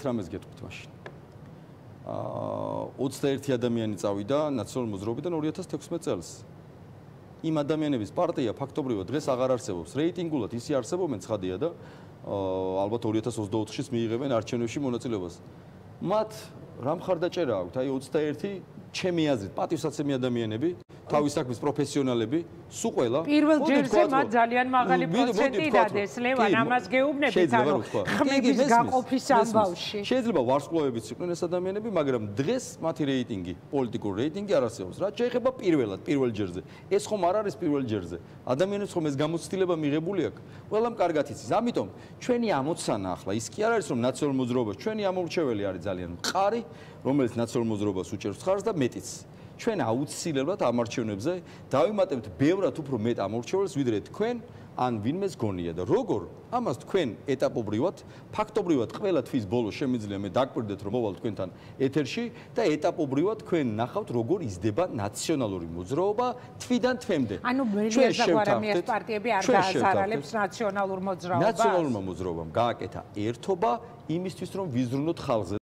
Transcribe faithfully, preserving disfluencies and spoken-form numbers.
რამეს გეტყვით მაშინ. აა ოცდაერთი ადამიანი წავიდა ნაციონალურ მოძრაობიდან ორი ათას თექვსმეტ წელს. იმ ადამიანების პარტია ფაქტობრივად დღეს აღარ არსებობს. რეიტინგულად ისე არსებობენ ცხადია და ალბათ ორი ათას ოცდაოთხშიც მიიღებენ არჩევნებში მონაწილეობას. მათ რა მხარდაჭერა აქვთ? აი ოცდაერთი ჩემი აზრით პატივსაცემი ადამიანები, თავის საქმის პროფესიონალები, სულ ყველა. პირველ ჯერზე მათ ძალიან მაღალი პროცენტი დადეს, ლევან, ამას გეუბნებით, ანუ ხმების გაყოფის ამბავში. შეიძლება ვარსკვლავებიც იყვნენ ეს ადამიანები, მაგრამ დღეს მათი რეიტინგი, პოლიტიკური რეიტინგი არ არსებობს. რაც შეეხება პირველად, პირველ ჯერზე. ეს ხომ არ არის პირველ ჯერზე. ადამიანებს ხომ ეს გამოცდილება მიღებული აქვს. ყველამ კარგად იცის. ამიტომ ჩვენი ამოცანა ახლა ის კი არ არის რომ ნაციონალურ მოძრაობას ჩვენი ამორჩეველი არის ძალიან მყარი, რომელიც ნაციონალურ მოძრაობას უჭერს ხარს და მეტიც. ჩვენ აუცილებლად ამ არჩევნებზე დავიმატებთ ბევრად უფრო მეტ ამორჩეველს, ვიდრე თქვენ ან ვინმეს გონია და როგორ ამას თქვენ ეტაპობრივად, ფაქტობრივად ყველა თვის ბოლო შემიძლია მე დაგვირდეთ რომ მოვალ თქვენთან ეთერში და ეტაპობრივად თქვენ ნახავთ როგორ იზრდება ნაციონალური მოძრაობა თვიდან თვემდე. ანუ მელიას და გვარამიას პარტიები არ გააზარალებს ნაციონალურ მოძრაობას. ნაციონალურმა მოძრაობამ გააკეთა ერთობა იმისთვის რომ ვიზრუნოთ ხალხზე.